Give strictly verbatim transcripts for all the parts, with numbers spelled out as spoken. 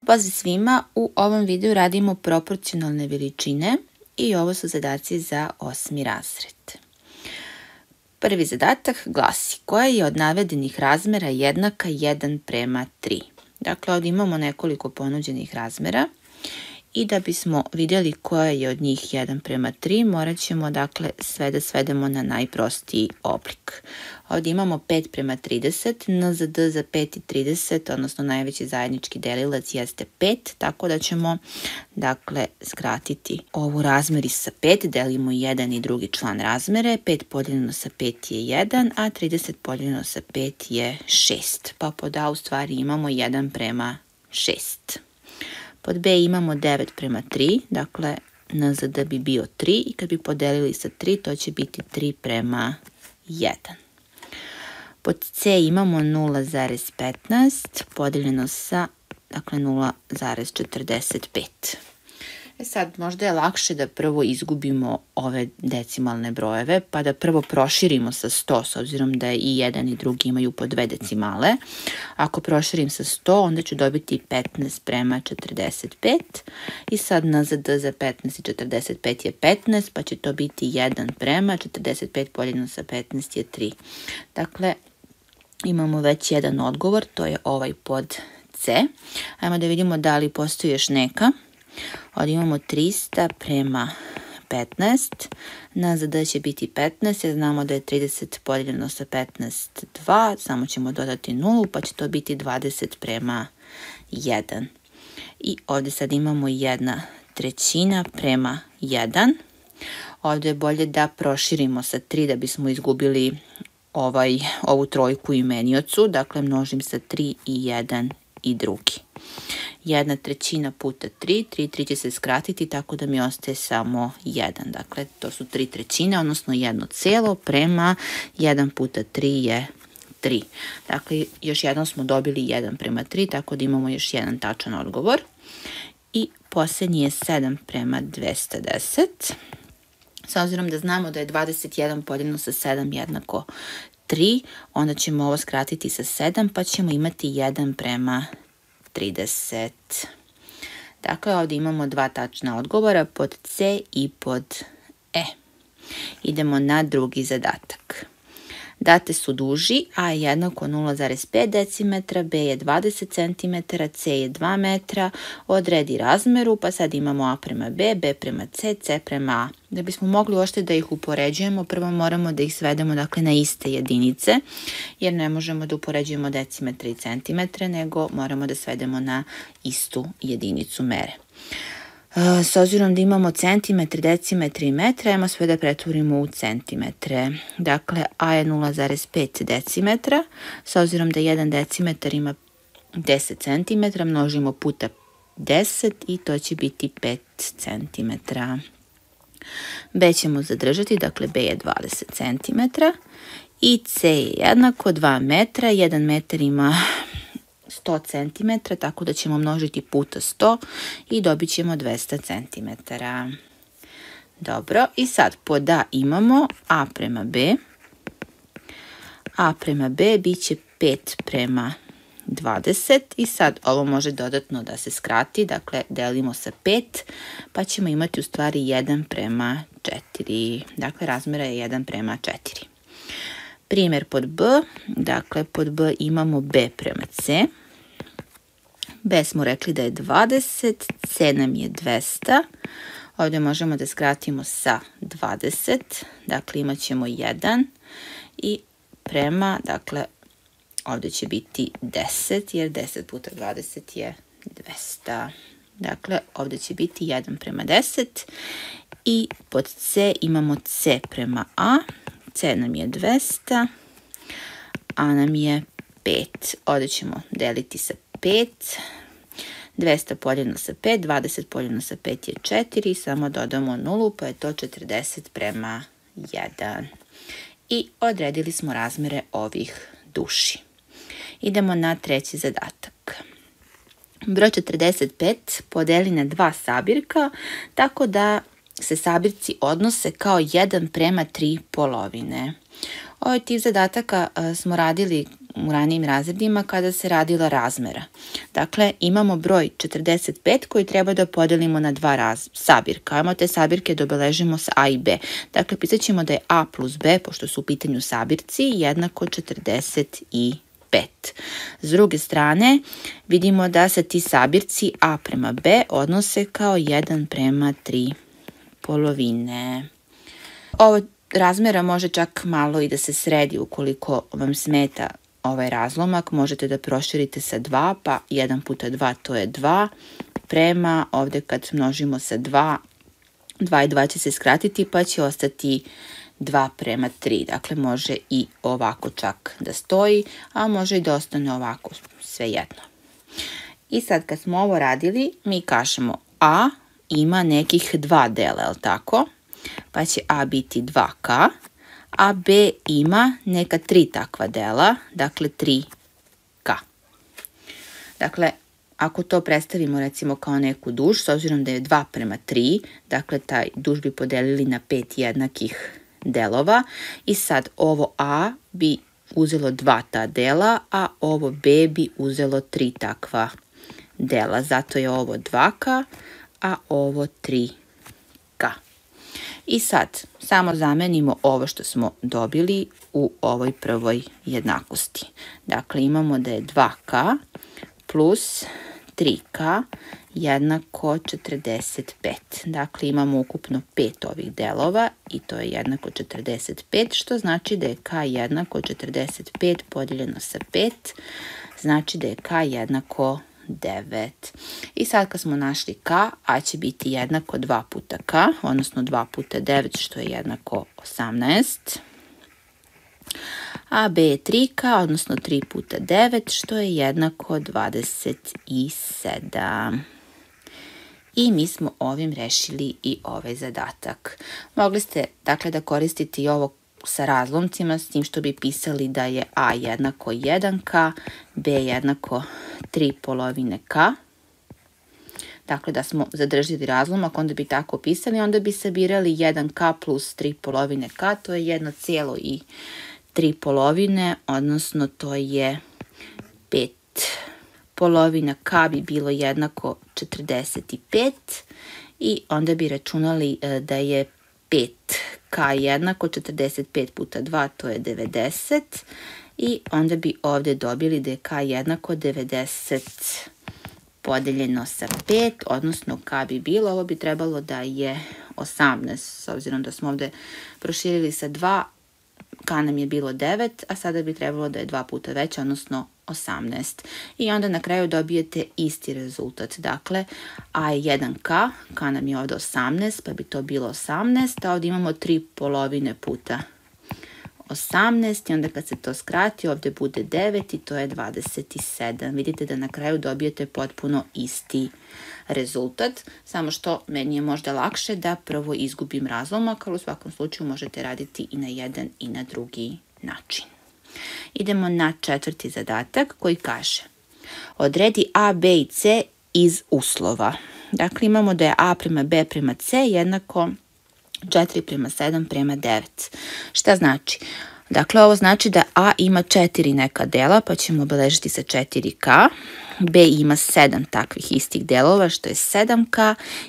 Pozdrav svima, u ovom videu radimo proporcionalne veličine i ovo su zadaci za osmi razred. Prvi zadatak glasi: koja je od navedenih razmera jednaka jedan prema tri? Dakle, ovdje imamo nekoliko ponuđenih razmera i da bismo vidjeli koja je od njih jedan prema tri, morat ćemo dakle sve da svedemo na najprostiji oblik. Ovdje imamo pet prema trideset, N Z D za pet i trideset, odnosno najveći zajednički delilac jeste pet, tako da ćemo dakle skratiti ovu razmeri sa pet, delimo jedan i drugi član razmere, pet podijeljeno sa pet je jedan, a trideset podijeljeno sa pet je šest, pa pod A u stvari imamo jedan prema šest. Pod B imamo devet prema tri, dakle N Z D bi bio tri i kad bi podelili sa tri to će biti tri prema jedan. Pod C imamo nula zarez petnaest podijeljeno sa dakle nula zarez četrdeset pet. E sad, možda je lakše da prvo izgubimo ove decimalne brojeve, pa da prvo proširimo sa sto, s obzirom da i jedan i drugi imaju po dve decimale. Ako proširim sa sto, onda ću dobiti petnaest prema četrdeset pet. I sad N Z D za petnaest i četrdeset pet je petnaest, pa će to biti jedan prema četrdeset pet podijeljeno sa petnaest je tri. Dakle, imamo već jedan odgovor, to je ovaj pod C. Ajmo da vidimo da li postoji još neka. Ovdje imamo trista prema petnaest, N Z D će biti petnaest, jer znamo da je trideset podijeljeno sa petnaest dva, samo ćemo dodati nulu, pa će to biti dvadeset prema jedan. I ovdje sad imamo jedna trećina prema jedan. Ovdje je bolje da proširimo sa tri da bismo izgubili ovaj, ovu trojku u imeniocu, dakle množim sa tri i jedan i drugi. Jedna trećina puta tri, tri, tri će se skratiti tako da mi ostaje samo jedan. Dakle, to su tri trećine, odnosno jedno celo prema jedan puta tri je tri. Dakle, još jednom smo dobili jedan prema tri, tako da imamo još jedan tačan odgovor. I posljednji je sedam prema dvesta deset. S obzirom da znamo da je dvadeset jedan podijeljeno sa sedam jednako tri, onda ćemo ovo skratiti sa sedam, pa ćemo imati jedan prema trideset. Dakle, ovdje imamo dva tačna odgovora, pod C i pod E. Idemo na drugi zadatak. Date su duži, A je jednako nula zarez pet decimetra, B je dvadeset centimetara, C je dva metra, odredi razmeru, pa sad imamo A prema B, B prema C, C prema A. Da bismo mogli uopšte da ih upoređujemo, prvo moramo da ih svedemo dakle, na iste jedinice, jer ne možemo da upoređujemo decimetre i centimetre, nego moramo da svedemo na istu jedinicu mere. S obzirom da imamo centimetre, decimetre i metre, ajmo sve da pretvorimo u centimetre. Dakle, A je nula zarez pet decimetra, s obzirom da jedan decimetar ima deset centimetra, množimo puta deset i to će biti pet centimetara. B ćemo zadržati, dakle B je dvadeset centimetara i C je jednako dva metra, jedan metar ima sto centimetara, tako da ćemo množiti puta sto i dobit ćemo dvesta centimetara. Dobro, i sad pod A imamo A prema B. A prema B bit će pet prema dvadeset i sad ovo može dodatno da se skrati, dakle delimo sa pet, pa ćemo imati u stvari jedan prema četiri. Dakle, razmera je jedan prema četiri. Primjer pod B, dakle pod B imamo B prema C. B smo rekli da je dvadeset, C nam je dvesta. Ovdje možemo da skratimo sa dvadeset, dakle imat ćemo jedan i prema, dakle ovdje će biti deset, jer deset puta dvadeset je dvesta. Dakle, ovdje će biti jedan prema deset i pod C imamo C prema A. C nam je dvesta, A nam je pet. Ovdje ćemo deliti sa pet. dvesta podijeljeno sa pet, dvadeset podijeljeno sa pet je četiri, samo dodamo nulu, pa je to četrdeset prema jedan. I odredili smo razmere ovih duši. Idemo na treći zadatak. Broj četrdeset pet podeli na dva sabirka, tako da se sabirci odnose kao jedan prema tri polovine. Ovaj tip zadataka smo radili u ranijim razredima kada se radila razmera. Dakle, imamo broj četrdeset pet koji treba da podelimo na dva raz, sabirka. Ajmo te sabirke da obeležimo sa A i B. Dakle, pisat ćemo da je A plus B, pošto su u pitanju sabirci, jednako četrdeset pet. S druge strane, vidimo da se ti sabirci A prema B odnose kao jedan prema tri polovine. Ovo razmera može čak malo i da se sredi ukoliko vam smeta ovaj razlomak. Možete da proširite sa dva, pa jedan puta dva to je dva, prema ovde kad množimo sa dva, dva i dva će se skratiti pa će ostati dva prema tri. Dakle, može i ovako čak da stoji, a može i da ostane ovako, svejedno. I sad kad smo ovo radili, mi kažemo A ima nekih dva dela, je li tako? Pa će A biti dva K, a B ima neka tri takva dela, dakle tri K. Dakle, ako to predstavimo recimo kao neku duž, s obzirom da je dva prema tri, dakle taj duž bi podelili na pet jednakih delova i sad ovo A bi uzelo dva ta dela, a ovo B bi uzelo tri takva dela. Zato je ovo dva K, a ovo tri K. I sad samo zamenimo ovo što smo dobili u ovoj prvoj jednakosti. Dakle, imamo da je dva K plus tri K jednako četrdeset pet. Dakle, imamo ukupno pet ovih delova i to je jednako četrdeset pet, što znači da je K jednako četrdeset pet podijeljeno sa pet, znači da je K jednako devet. I sad kad smo našli K, A će biti jednako dva puta K, odnosno dva puta devet, što je jednako osamnaest. A B je tri K, odnosno tri puta devet, što je jednako dvadeset sedam. I mi smo ovim rešili i ovaj zadatak. Mogli ste dakle da koristite i ovo sa razlomcima, s tim što bi pisali da je A jednako jedan K, B jednako tri polovine K. Dakle, da smo zadržili razlomak, onda bi tako pisali, onda bi sabirali jedan K plus tri polovine K, to je jedno cijelo i tri polovine, odnosno to je pet. Polovina K bi bilo jednako četrdeset pet i onda bi računali da je pet K jednako četrdeset pet puta dva, to je devedeset. I onda bi ovdje dobili da je K jednako devedeset podeljeno sa pet, odnosno K bi bilo, ovo bi trebalo da je osamnaest, s obzirom da smo ovdje proširili sa dva, K nam je bilo devet, a sada bi trebalo da je dva puta veće, odnosno osamnaest. I onda na kraju dobijete isti rezultat. Dakle, A je jedan K, K nam je ovdje osamnaest, pa bi to bilo osamnaest, a ovdje imamo tri polovine puta osamnaest i onda kad se to skrati ovdje bude devet i to je dvadeset sedam. Vidite da na kraju dobijete potpuno isti rezultat, samo što meni je možda lakše da prvo izgubim razlomak, ali u svakom slučaju možete raditi i na jedan i na drugi način. Idemo na četvrti zadatak koji kaže: odredi A, B i C iz uslova. Dakle, imamo da je A prema B prema C jednako četiri prema sedam prema devet. Šta znači? Dakle, ovo znači da A ima četiri neka dela, pa ćemo obeležiti sa četiri K. B ima sedam takvih istih delova, što je sedam K.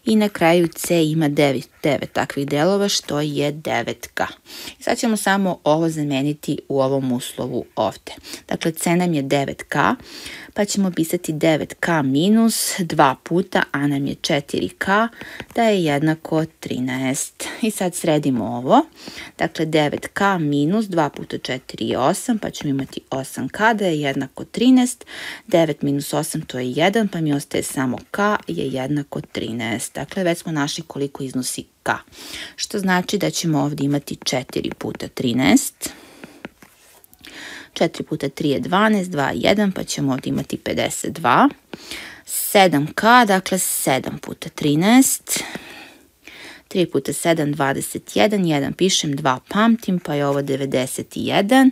I na kraju C ima devet, devet takvih delova, što je devet K. I sad ćemo samo ovo zameniti u ovom uslovu ovdje. Dakle, C nam je devet K, pa ćemo pisati devet K minus dva puta A nam je četiri K, da je jednako trinaest. I sad sredimo ovo. Dakle, devet K minus dva puta četiri je osam, pa ćemo imati osam K, da je jednako trinaest. devet minus osam to je jedan, pa mi ostaje samo K je jednako trinaest. Dakle, već smo našli koliko iznosi K. Što znači da ćemo ovdje imati četiri puta trinaest. četiri puta tri je dvanaest, dva je jedan, pa ćemo ovdje imati pedeset dva. sedam K, dakle sedam puta trinaest. tri puta sedam, dvadeset jedan, jedan pišem, dva pamtim, pa je ovo devedeset jedan.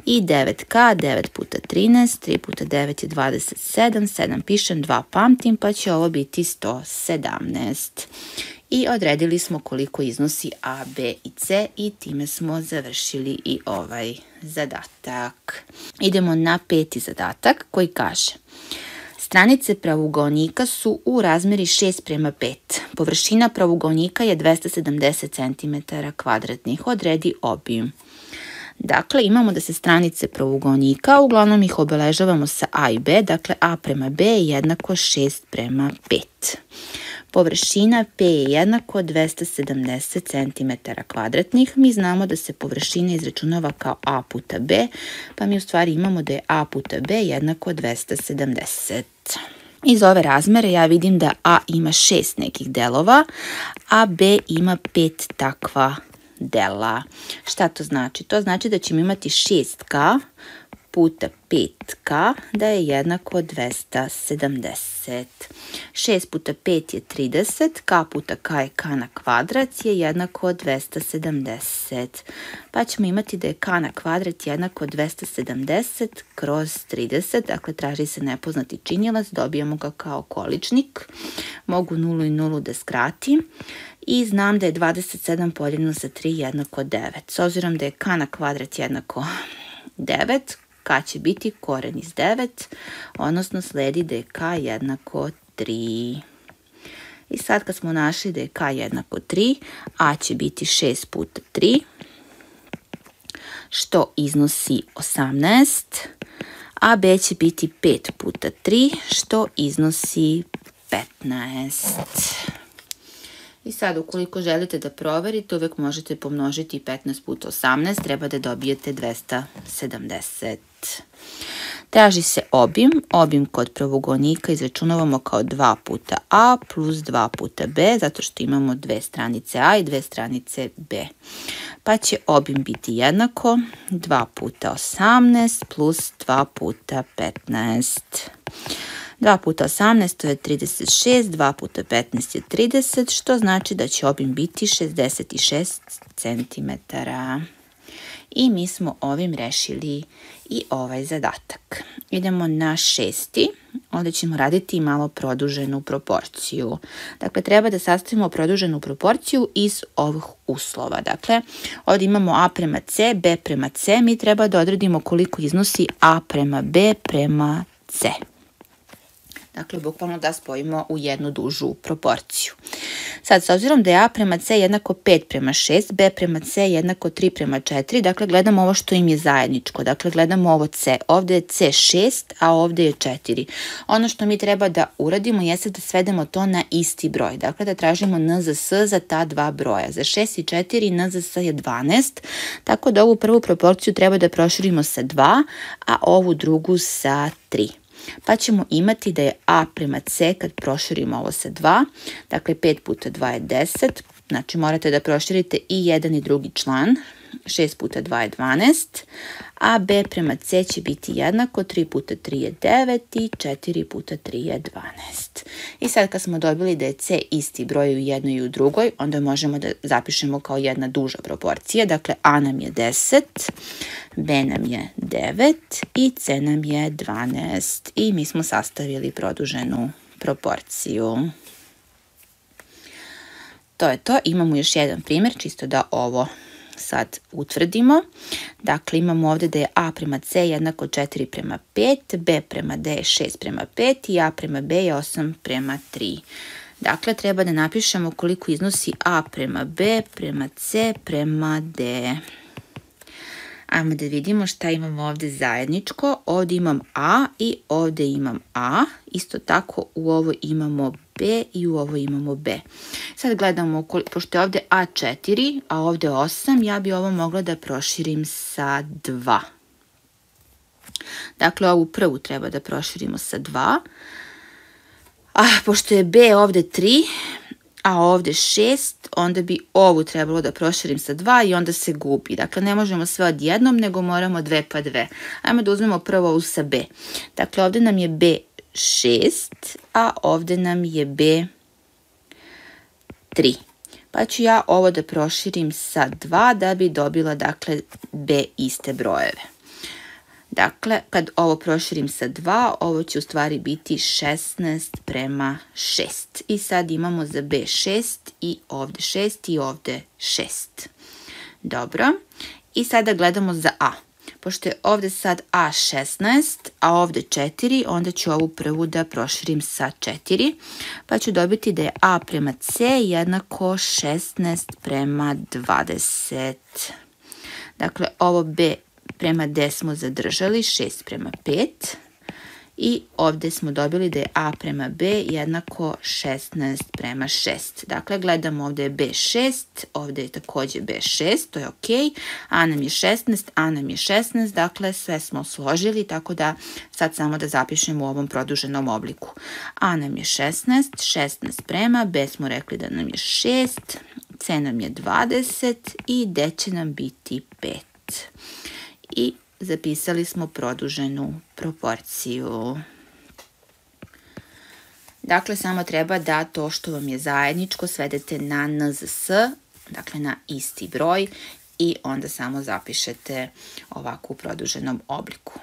I devet K, devet puta trinaest, tri puta devet je dvadeset sedam, sedam pišem, dva pamtim, pa će ovo biti sto sedamnaest. i odredili smo koliko iznosi a, b i c i time smo završili i ovaj zadatak. Idemo na peti zadatak koji kaže: stranice pravougaonika su u razmeri šest prema pet. Površina pravougaonika je dvesta sedamdeset centimetara kvadratnih. Odredi obim. Dakle, imamo da se stranice pravougaonika, uglavnom ih obeležavamo sa a i b, dakle a prema b je jednako šest prema pet. Površina P je jednako dvesta sedamdeset centimetara kvadratnih. Mi znamo da se površina izračunava kao a puta b, pa mi u stvari imamo da je a puta b jednako dvesta sedamdeset. Iz ove razmere ja vidim da a ima šest nekih delova, a b ima pet takva dela. Šta to znači? To znači da ćemo imati šest ka puta pet ka da je jednako dvesta sedamdeset. šest puta pet je trideset, k puta k je k na kvadrat je jednako dvesta sedamdeset. Pa ćemo imati da je k na kvadrat jednako dvesta sedamdeset kroz trideset, dakle traži se nepoznati činilac, dobijamo ga kao količnik. Mogu nulu i nulu da skratim i znam da je dvadeset sedam podijeljeno sa tri jednako devet. S obzirom da je k na kvadrat jednako devet, k će biti koren iz devet, odnosno sledi da je k jednako tri. I sad kad smo našli da je k jednako tri, a će biti šest puta tri, što iznosi osamnaest, a b će biti pet puta tri, što iznosi petnaest. I sad, ukoliko želite da proverite, uvek možete pomnožiti petnaest puta osamnaest, treba da dobijete dvesta sedamdeset. Traži se obim. Obim kod pravougaonika izračunavamo kao dva puta a plus dva puta b, zato što imamo dve stranice a i dve stranice b. Pa će obim biti jednako dva puta osamnaest plus dva puta petnaest. dva puta osamnaest to je trideset šest, dva puta petnaest je trideset, što znači da će obim biti šezdeset šest centimetara. I mi smo ovim rešili i ovaj zadatak. Idemo na šesti. Ovdje ćemo raditi malo produženu proporciju. Dakle, treba da sastavimo produženu proporciju iz ovih uslova. Dakle, ovdje imamo a prema c, b prema c. Mi treba da odredimo koliko iznosi a prema b prema c. Dakle, bukvalno da spojimo u jednu dužu proporciju. Sad, s obzirom da je a prema c jednako pet prema šest, b prema c jednako tri prema četiri, dakle, gledamo ovo što im je zajedničko. Dakle, gledamo ovo c. Ovdje je c šest, a ovdje je četiri. Ono što mi treba da uradimo jeste da svedemo to na isti broj. Dakle, da tražimo en zet es za ta dva broja. Za šest i četiri en zet es je dvanaest, tako da ovu prvu proporciju treba da proširimo sa dva, a ovu drugu sa tri. Pa ćemo imati da je a prema c kad proširimo ovo sa dva, dakle pet puta dva je deset, znači morate da proširite i jedan i drugi član, šest puta dva je dvanaest, a b prema c će biti jednako, tri puta tri je devet i četiri puta tri je dvanaest. I sad kad smo dobili da je c isti broj u jednoj i u drugoj, onda možemo da zapišemo kao jedna duža proporcija, dakle a nam je deset, b nam je devet i c nam je dvanaest. I mi smo sastavili produženu proporciju. To je to. Imamo još jedan primjer, čisto da ovo sad utvrdimo. Dakle, imamo ovdje da je a prema c jednako četiri prema pet, b prema d je šest prema pet i a prema b je osam prema tri. Dakle, treba da napišemo koliko iznosi a prema b prema c prema d. Ajmo da vidimo šta imamo ovdje zajedničko. Ovdje imam a i ovdje imam a. Isto tako u ovo imamo b i u ovo imamo b. Sad gledamo, pošto je ovdje a četiri, a ovdje osam, ja bi ovo mogla da proširim sa dva. Dakle, ovu prvu treba da proširimo sa dva. A pošto je b ovdje tri, a ovdje šest, onda bi ovu trebalo da proširim sa dva i onda se gubi. Dakle, ne možemo sve odjednom, nego moramo dve pa dve. Ajmo da uzmemo prvo ovu sa b. Dakle, ovdje nam je b šest, a ovdje nam je b tri. Pa ću ja ovo da proširim sa dva da bi dobila, dakle, b iste brojeve. Dakle, kad ovo proširim sa dva, ovo će u stvari biti šesnaest prema šest. I sad imamo za B šest i ovde šest i ovde šest. Dobro. I sada gledamo za A. Pošto je ovde sad A šesnaest, a ovde četiri, onda ću ovu prvu da proširim sa četiri, pa ću dobiti da je A prema C jednako šesnaest prema dvadeset. Dakle, ovo B prema D smo zadržali, šest prema pet. I ovde smo dobili da je A prema B jednako šesnaest prema šest. Dakle, gledamo ovde je B šest, ovde je takođe B šest, to je ok. A nam je šesnaest, A nam je šesnaest, dakle sve smo složili, tako da sad samo da zapišemo u ovom produženom obliku. A nam je šesnaest, šesnaest prema, B smo rekli da nam je šest, C nam je dvadeset i D će nam biti pet. I zapisali smo produženu proporciju. Dakle, samo treba da to što vam je zajedničko svedete na N Z S, dakle na isti broj, i onda samo zapišete ovako u produženom obliku.